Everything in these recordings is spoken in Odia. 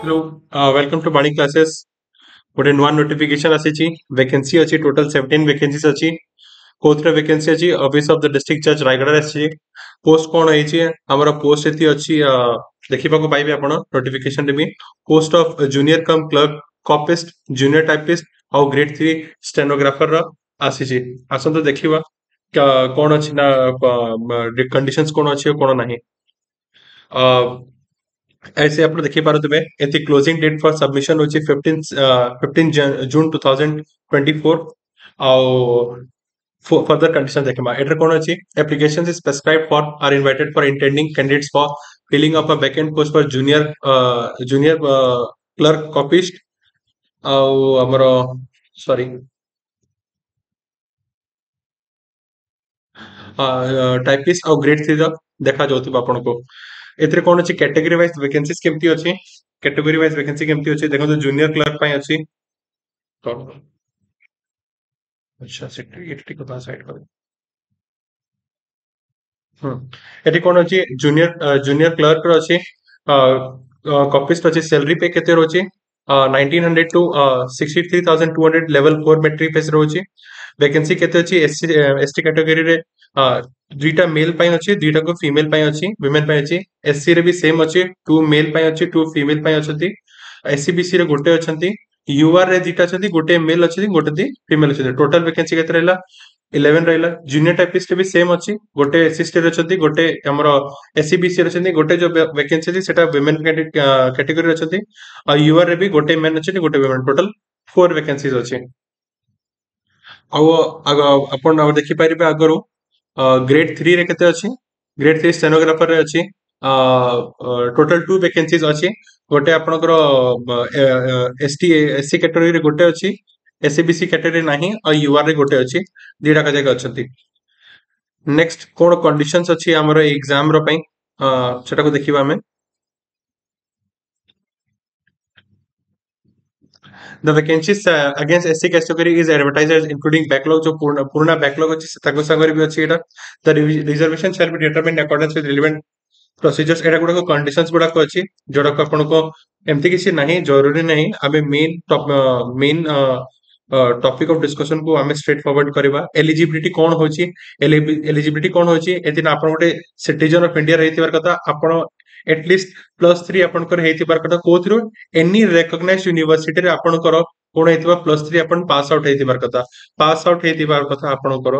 Hello, welcome to Bani classes. ଗୋଟେ ନୂଆ ନୋଟିଫିକେସନ ଆସିଛି, ଭେକେନ୍ସି ଅଛି, ଟୋଟାଲ 17 ଭେକେନ୍ସିଜ ଅଛି। କୋଉଥିରେ ଭେକେନ୍ସି ଅଛି? ଅଫିସ ଅଫ the district ଜଜ୍ ରାୟଗଡ଼ାରେ ଆସିଛି। ପୋଷ୍ଟ କଣ ହେଇଛି ଆମର? ପୋଷ୍ଟ ଏଠି ଅଛି, ଦେଖିବାକୁ ପାଇବେ ଆପଣ ନୋଟିଫିକେସନରେ ବି, post of junior cum clerk copyist, junior typist ଆଉ ଗ୍ରେଡ୍ 3 ଷ୍ଟେନୋଗ୍ରାଫର ର ଆସିଛି। ଆସନ୍ତୁ ଦେଖିବା କଣ ଅଛି ନା କଣ୍ଡିସନ୍ସ କଣ ଅଛି ଆଉ କଣ ନାହିଁ। ऐसे ଆପଣ ଦେଖିପାରୁଥିବେ, ଏଠି କ୍ଲୋଜିଂ ଡେଟ୍ ଫର ସବମିଶନ ହଉଛି 15 June 2024। ଆଉ further conditions ଦେଖିବା, ଏଠାରେ କଣ ଅଛି? Applications is prescribed for are invited for intending candidates for filling up a vacant post for junior clerk copyist ଆଉ ଆମର ସରି ଟାଇପିଷ୍ଟ ଆଉ ଗ୍ରେଡ୍ 3 ର ଦେଖାଯାଉଥିବ ଆପଣଙ୍କୁ। ଏଥିରେ କଣ ଅଛି? କ୍ୟାଟେଗୋରୀ ୱାଇଜ ଭେକେନ୍ସିଜ କେମିତି ଅଛି? କ୍ୟାଟେଗୋରୀ ୱାଇଜ ଭେକେନ୍ସି କେମିତି ଅଛି ଦେଖନ୍ତୁ। ଜୁନିୟର କ୍ଲର୍କ ପାଇଁ ଅଛି। ଆଚ୍ଛା, ସେଠି ଏଠି ଟିକେ ସାଇଡ୍ କରି। ଏଠି କଣ ଅଛି? ଜୁନିୟର କ୍ଲର୍କ ର ଅଛି, କପିଷ୍ଟ ଅଛି। ସାଲାରୀ ପେ କେତେ ରହୁଛି? 1900 to 63,200, level 4 matric pay ରହୁଛି। ଭେକେନ୍ସି କେତେ ଅଛି? ଏସସି ଏସଟି କ୍ୟାଟେଗୋରୀରେ ଦୁଇଟା ମେଲ୍ ପାଇଁ ଅଛି, ଦୁଇଟାକୁ ଫିମେଲ ପାଇଁ ଅଛି, ୱିମେନ୍ ପାଇଁ ଅଛି। ଏସସି ରେ ବି ସେମ୍ ଅଛି, ଟୁ ମେଲ୍ ପାଇଁ ଅଛି, ଟୁ ଫିମେଲ ପାଇଁ ଅଛନ୍ତି। ଏସଇବିସି ରେ ଗୋଟେ ଅଛନ୍ତି। ୟୁଆର ରେ ଦିଟା ଅଛନ୍ତି, ଗୋଟେ ମେଲ୍ ଅଛନ୍ତି, ଗୋଟେ ଦି ଫିମେଲ ଅଛନ୍ତି। ଟୋଟାଲ ଭେକେନ୍ସି କେତେ ରହିଲା? 11 ରହିଲା। ଜୁନିୟର ଟାଇପିଷ୍ଟ ବି ସେମ୍ ଅଛି, ଗୋଟେ ଏସସି ରେ ଅଛନ୍ତି, ଗୋଟେ ଆମର ଏସଇବିସି ରେ ଅଛନ୍ତି, ଗୋଟେ ଯୋଉ ଭେକେନ୍ସି ଅଛି ସେଟା ୱିମେନ୍ କ୍ୟାଟେଗୋରୀ ଅଛନ୍ତି। ଆଉ ୟୁଆର ରେ ବି ଗୋଟେ ମେନ୍ ଅଛନ୍ତି, ଗୋଟେ ୱିମେନ୍। ଟୋଟାଲ 4 ଭେକେନ୍ସିଜ ଅଛି। ଆଉ ଆପଣ ଆଉ ଦେଖିପାରିବେ ଆଗରୁ ଗ୍ରେଡ୍ 3 ରେ କେତେ ଅଛି। ଗ୍ରେଡ୍ 3 ଷ୍ଟେନୋଗ୍ରାଫର ରେ ଅଛି, ଟୋଟାଲ 2 ଭେକେନ୍ସିଜ ଅଛି। ଗୋଟେ ଆପଣଙ୍କର ଏସଟି ଏସସି କ୍ୟାଟେଗୋରୀରେ ଗୋଟେ ଅଛି, ଏସଇବିସି କ୍ୟାଟେଗୋରୀ ନାହିଁ, ଆଉ ୟୁଆର ରେ ଗୋଟେ ଅଛି। ଦିଟା ଯାକ ଅଛନ୍ତି। ନେକ୍ସଟ କଣ କଣ୍ଡିସନ୍ସ ଅଛି ଆମର ଏକ୍ସାମ ର ପାଇଁ, ସେଟାକୁ ଦେଖିବା ଆମେ। The vacancies against SC category is advertised as including backlog, ଯୋଉ ପୁରୁଣା ପୁରୁଣା backlog ଅଛି ତାଙ୍କ ସାଙ୍ଗରେ ବି ଅଛି ଏଇଟା। The reservation shall be determined in accordance with relevant procedures. ଏଇଟା ଗୁଡାକ conditions ଗୁଡାକ ଅଛି, ଯୋଉଟାକୁ ଆପଣଙ୍କ ଏମିତି କିଛି ନାହିଁ, ଜରୁରୀ ନାହିଁ। ଆମେ main topic of discussion କୁ ଆମେ ଷ୍ଟ୍ରେଟ୍ ଫରୱାର୍ଡ କରିବା। ଏଲିଜିବିଲିଟି କଣ ହଉଛି? ଏଲିଜିବିଲିଟି କଣ ହଉଛି? ଏଥିରେ ଆପଣ ଗୋଟେ ସିଟିଜନ ଅଫ ଇଣ୍ଡିଆ ହେଇଥିବାର କଥା। ଆପଣ ଏଟଲିଷ୍ଟ +3 ଆପଣଙ୍କର ହେଇଥିବାର କଥା। କୋଉଥିରୁ? ଏନି ରେକଗ୍ନାଇଜ ୟୁନିଭର୍ସିଟିରେ ଆପଣଙ୍କର କଣ ହେଇଥିବା, +3 ଆପଣ ପାସ୍ ଆଉଟ୍ ହେଇଥିବାର କଥା, ପାସ୍ ଆଉଟ୍ ହେଇଥିବାର କଥା ଆପଣଙ୍କର,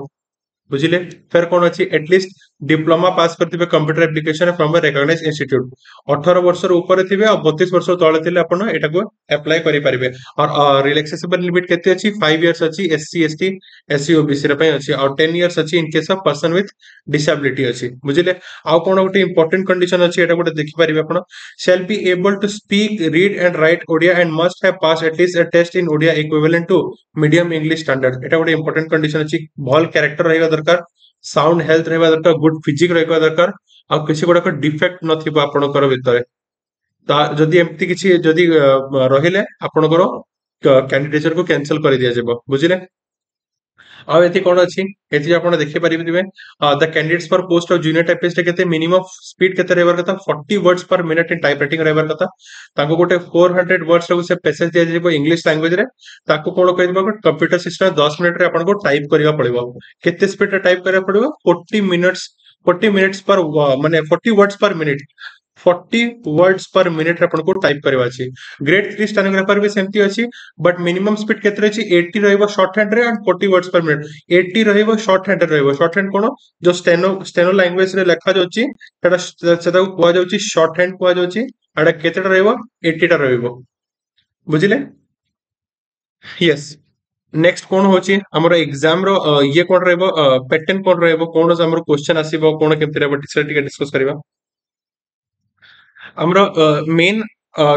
ବୁଝିଲେ? ଫେର କଣ ଅଛି? ଏଟଲିଷ୍ଟ ଡିପ୍ଲୋମା ପାସ୍ କରିଥିବେ computer application from a recognized institute। 18 ବର୍ଷର ଉପରେ ଥିବେ ଆଉ 32 ବର୍ଷ ତଳେ ଥିଲେ ଆପଣ ଏଟାକୁ ଆପ୍ଲାଏ କରିପାରିବେ। ଆଉ ରିଲାକ୍ସେସନ ଲିମିଟ କେତେ ଅଛି? 5 ଇୟର୍ସ ଅଛି ଏସସି, ଏସଟି, ଏସସି, ଓବିସି ର ପାଇଁ ଅଛି, ଆଉ 10 ଇୟର୍ସ ଅଛି in case of person with disability ଅଛି, ବୁଝିଲେ? ଆଉ କଣ ଗୋଟେ ଇମ୍ପୋର୍ଟାଣ୍ଟ କଣ୍ଡିସନ ଅଛି, ଏଟା ଗୋଟେ ଦେଖିପାରିବେ ଆପଣ। Shall be able to speak, read and write Odia and must have passed at least a test in Odia equivalent to medium English standard. ଏଟା ଗୋଟେ ଇମ୍ପୋର୍ଟାଣ୍ଟ କଣ୍ଡିସନ ଅଛି। ଭଲ କ୍ୟାରେକ୍ଟର ରହିବା ଦରକାର, ସାଉଣ୍ଡ ହେଲ୍ଥ ରହିବା ଦରକାର, ଗୁଡ ଫିଜିକ ରହିବା ଦରକାର, ଆଉ କିଛି ଗୁଡାକ ଡିଫେକ୍ଟ ନଥିବ ଆପଣଙ୍କର ଭିତରେ। ତା ଯଦି ଏମିତି କିଛି ଯଦି ରହିଲେ ଆପଣଙ୍କର କ୍ୟାଣ୍ଡିଡେଚର କୁ କ୍ୟାନସଲ କରିଦିଆଯିବ, ବୁଝିଲେ? ଆଉ ଏଠି କଣ ଅଛି? ଏଠି ଆପଣ ଦେଖିପାରିବେ, the candidates for post of junior typist କେତେ ମିନିମମ୍ ସ୍ପିଡ କେତେ ରହିବାର କଥା? 40 words per minute in type writing ରହିବାର କଥା। ତାଙ୍କୁ ଗୋଟେ 400 ୱାର୍ଡସ ସେ ପେସେଜ ଦିଆଯିବ ଇଂଲିଶ ଲାଙ୍ଗୁଏଜ ରେ। ତାକୁ କଣ କହିବ? କମ୍ପ୍ୟୁଟର ସିଷ୍ଟମ 10 ମିନିଟରେ ଆପଣଙ୍କୁ ଟାଇପ କରିବାକୁ ପଡିବ। କେତେ ସ୍ପିଡରେ ଟାଇପ କରିବାକୁ ପଡିବ? 40 minutes, 40 minutes per ମାନେ 40 words per minute, 40 words per minute ଆପଣଙ୍କୁ ଟାଇପ କରିବା ଅଛି। ଗ୍ରେଡ୍ 3 ଷ୍ଟେନୋଗ୍ରାଫର ବି ସେମିତି ଅଛି, ବଟ୍ ମିନିମମ୍ ସ୍ପିଡ କେତେ ରହିଛି? 80 ରହିବ ସର୍ଟ ହ୍ୟାଣ୍ଡ ରେ ଆଣ୍ଡ 40 ୱାର୍ଡସ ପର ମିନିଟ। 80 ରହିବ, ସର୍ଟ ହ୍ୟାଣ୍ଡ ରେ ରହିବ। ସର୍ଟ ହ୍ୟାଣ୍ଡ କଣ? ଯୋଉ ଷ୍ଟେନୋ ଲାଙ୍ଗୁଏଜ ରେ ଲେଖା ଯାଉଛି, ସେଟା ସେଟାକୁ କୁହାଯାଉଛି ସର୍ଟ ହ୍ୟାଣ୍ଡ କୁହାଯାଉଛି। ଏଟା କେତେଟା ରହିବ? 80ଟା ରହିବ, ବୁଝିଲେ? ୟେସ୍, ନେକ୍ସଟ କଣ ହଉଛି ଆମର ଏକ୍ସାମ ର ଇଏ କଣ ରହିବ, ପ୍ୟାଟର୍ନ କଣ ରହିବ, କଣ ଆମର କ୍ୱେଶ୍ଚନ ଆସିବ, କଣ କେମିତି ରହିବ, ସେଟା ଟିକେ ଡିସ୍କସ କରିବା। ଆମର ମେନ୍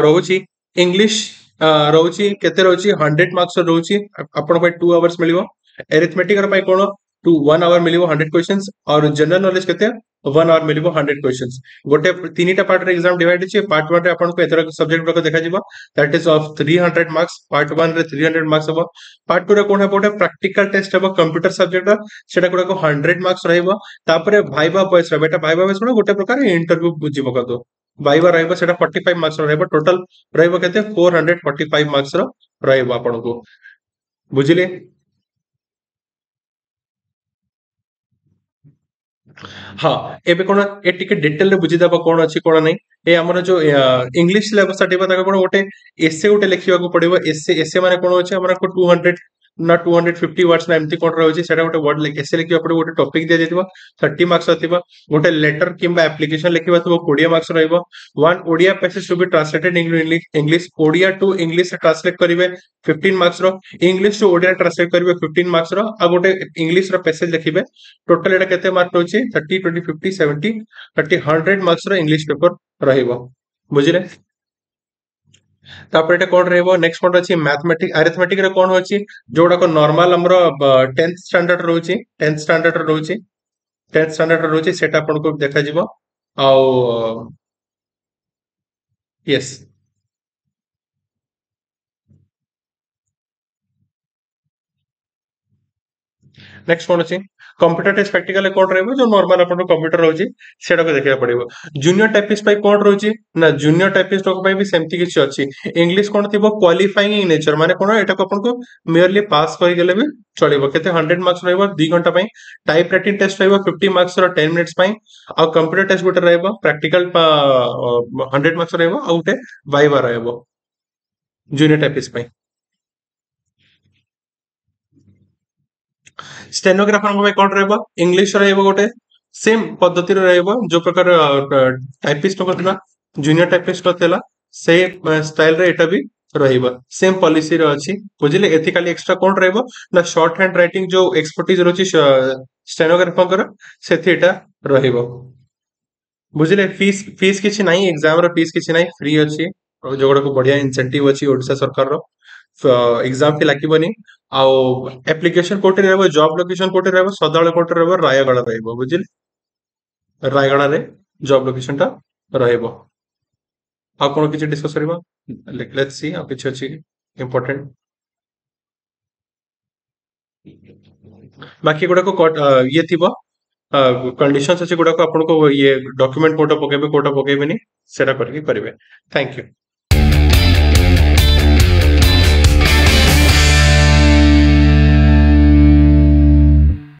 ରହୁଛି ଇଂଲିଶ ରହୁଛି। କେତେ ରହୁଛି? 100 ମାର୍କସ ରହୁଛି। ଆପଣଙ୍କ ପାଇଁ 2 ଆୱାର୍ସ ମିଳିବ। ଏରିଥମେଟିକ ପାଇଁ କଣ ଟୁ 1 ଆୱାର ମିଳିବ, 100 କ୍ୱେଶ୍ଚନ୍ସ। ଆଉ ଜେନେରାଲ ନଲେଜ କେତେ? 1 ଆୱାର ମିଳିବ, 100 କ୍ୱେଶ୍ଚନ୍ସ। ଗୋଟେ ତିନିଟା ପାର୍ଟରେ ଏକ୍ସାମ ଡିଭାଇଡ ଅଛି। ପାର୍ଟ 1 ରେ ଆପଣଙ୍କୁ ଏଥର ସବଜେକ୍ଟ ଗୁଡାକ ଦେଖାଯିବ, that is of 300 marks. Part 1 ରେ 300 ମାର୍କସ ହବ। ପାର୍ଟ 2 ରେ କଣ ହବ? ଗୋଟେ ପ୍ରାକ୍ଟିକାଲ ଟେଷ୍ଟ ହବ କମ୍ପ୍ୟୁଟର ସବଜେକ୍ଟ, ସେଟା ଗୁଡାକ 100 ମାର୍କସ ରହିବ। ତାପରେ ଭାଇଭା ଭଏସ ରହିବ। ଏଟା ଭାଇଭା ଭଏସ କଣ? ଗୋଟେ ପ୍ରକାର ଇଣ୍ଟରଭ୍ୟୁ ବୁଝି ପକାନ୍ତୁ। ଭାଇବା ରହିବ ସେଟା 45 ମାର୍କସ ରହିବ। ଟୋଟାଲ ରହିବ କେତେ 445 ମାର୍କସ ର ରହିବ ଆପଣଙ୍କୁ, ବୁଝିଲେ? ହଁ, ଏବେ କଣ ଏ ଟିକେ ଡିଟେଲରେ ବୁଝିଦବା କଣ ଅଛି କଣ ନାହିଁ। ଏ ଆମର ଯୋଉ ଇଂଲିଶ ସିଲାବସ ଟା ଥିବ ତାକୁ କଣ ଗୋଟେ ଏସେ ଗୋଟେ ଲେଖିବାକୁ ପଡିବ। ଏସେ ଏସେ ମାନେ କଣ ଅଛି ଆମର 200 ନା 250 ୱାର୍ଡସ ନା ଏମିତି କଣ ରହୁଛି, ସେଟା ଗୋଟେ ୱାର୍ଡ ଏସେ ଲେଖିବାକୁ ପଡିବ। ଗୋଟେ ଟପିକ ଦିଆଯାଇଥିବ 30 ମାର୍କସ ଥିବ, ଗୋଟେ ଲେଟର କିମ୍ବା ଆପ୍ଲିକେସନ ଲେଖିବା ଥିବ 20 ମାର୍କସ ରହିବ। 1 Odia passage to be translated English, Odia to English translate କରିବେ 15 ମାର୍କସ ର, ଇଂଲିଶ ଟୁ ଓଡ଼ିଆ ଟ୍ରାନ୍ସଲେଟ କରିବେ 15 ମାର୍କସ ର, ଆଉ ଗୋଟେ ଇଂଲିଶ ର ପ୍ୟାସେଜ ଲେଖିବେ। ଟୋଟାଲ ଏଟା କେତେ ମାର୍କ ରହୁଛି 30 20 50 70 30 100 ମାର୍କସ ର ଇଂଲିଶ ପେପର ରହିବ, ବୁଝିଲେ? ତାପରେ ଏଟା କଣ ରହିବ ନେକ୍ସଟ କଣ ଅଛି ମ୍ୟାଥମେଟିକ ଆରିଥମେଟିକ ରେ କଣ ଅଛି, ଯୋଉଟାକ ନର୍ମାଲ ଆମର 10th standard ରହୁଛି, 10th standard ରହୁଛି, 10th standard ରହୁଛି ସେଟା ଆପଣଙ୍କୁ ଦେଖାଯିବ। ଆଉ ୟେସ୍ ନେକ୍ସଟ କଣ ଅଛି କମ୍ପ୍ୟୁଟର ଟେଷ୍ଟ ପ୍ରାକ୍ଟିକାଲ କଣ ରହିବ, ଯୋଉ ନର୍ମାଲ ଆପଣଙ୍କ କମ୍ପ୍ୟୁଟର ରହୁଛି ସେଟାକୁ ଦେଖିବାକୁ ପଡିବ। ଜୁନିୟର ଟାଇପିଷ୍ଟ ପାଇଁ କଣ ରହୁଛି ନା ଜୁନିୟର ଟାଇପିଷ୍ଟ ପାଇଁ ବି ସେମିତି କିଛି ଅଛି। ଇଂଲିଶ କଣ ଥିବ କ୍ୱାଲିଫାଇଂ ଇନ ନେଚର, ମାନେ କଣ ଏଟାକୁ ଆପଣଙ୍କୁ ମିୟରଲି ପାସ୍ କରିଗଲେ ବି ଚଳିବ। କେତେ 100 ମାର୍କସ ରହିବ 2 ଘଣ୍ଟା ପାଇଁ। ଟାଇପ ରାଇଟିଂ ଟେଷ୍ଟ ରହିବ 50 ମାର୍କସ ର 10 ମିନିଟ୍ସ ପାଇଁ। ଆଉ କମ୍ପ୍ୟୁଟର ଟେଷ୍ଟ ଗୋଟେ ରହିବ ପ୍ରାକ୍ଟିକାଲ 100 ମାର୍କସ ରହିବ, ଆଉ ଗୋଟେ ଭାଇଭା ରହିବ ଜୁନିୟର ଟାଇପିଷ୍ଟ ପାଇଁ। ଷ୍ଟେନୋଗ୍ରାଫରଙ୍କ ପାଇଁ କଣ ରହିବ, ଇଂଲିଶ ରହିବ ଗୋଟେ ସେମ ପଦ୍ଧତିରେ ରହିବ, ଯୋଉ ପ୍ରକାର ଟାଇପିଷ୍ଟଙ୍କ ଥିଲା ଜୁନିୟର ଟାଇପିଷ୍ଟଙ୍କ ଥିଲା ସେଇ ଷ୍ଟାଇଲରେ ଏଟା ବି ରହିବ, ସେମ ପଲିସିରେ ଅଛି, ବୁଝିଲେ? ଏଥି ଖାଲି ଏକ୍ସଟ୍ରା କଣ ରହିବ ନା ସର୍ଟ ହ୍ୟାଣ୍ଡ ରାଇଟିଂ ଯୋଉ ଏକ୍ସପର୍ଟିଜ ରହୁଛି ଷ୍ଟେନୋଗ୍ରାଫରଙ୍କର ସେଥି ଏଟା ରହିବ, ବୁଝିଲେ? ଫିସ୍ କିଛି ନାହିଁ, ଏକ୍ସାମ ର ଫିସ୍ କିଛି ନାହିଁ, ଫ୍ରି ଅଛି, ଯୋଉଗୁଡାକୁ ବଢିଆ ଇନସେଣ୍ଟିଭ ଅଛି ଓଡିଶା ସରକାରର। ଏକ୍ସାମ ଫି ଲାଗିବନି। ଆଉ ଆପ୍ଲିକେସନ କୋଉଠି ରହିବ, ଜବ ଲୋକେସନ କୋଉଠି ରହିବ, ସଦାବେଳେ କୋଉଠି ରହିବ, ରାୟଗଡା ରହିବ, ବୁଝିଲେ? ରାୟଗଡାରେ ଜବ ଲୋକେସନ ଟା ରହିବ। ଆଉ କଣ କିଛି ଡିସ୍କସ କରିବା, let's C ଆଉ କିଛି ଅଛି ଇମ୍ପୋର୍ଟାଣ୍ଟ। ବାକି ଗୁଡାକ ଇଏ ଥିବ କଣ୍ଡିସନ୍ସ ଅଛି ଗୁଡାକ ଆପଣଙ୍କୁ ଇଏ ଡକ୍ୟୁମେଣ୍ଟ କୋଉଟା ପକେଇବେ କୋଉଟା ପକେଇବେନି ସେଟା କରିକି କରିବେ। Thank you.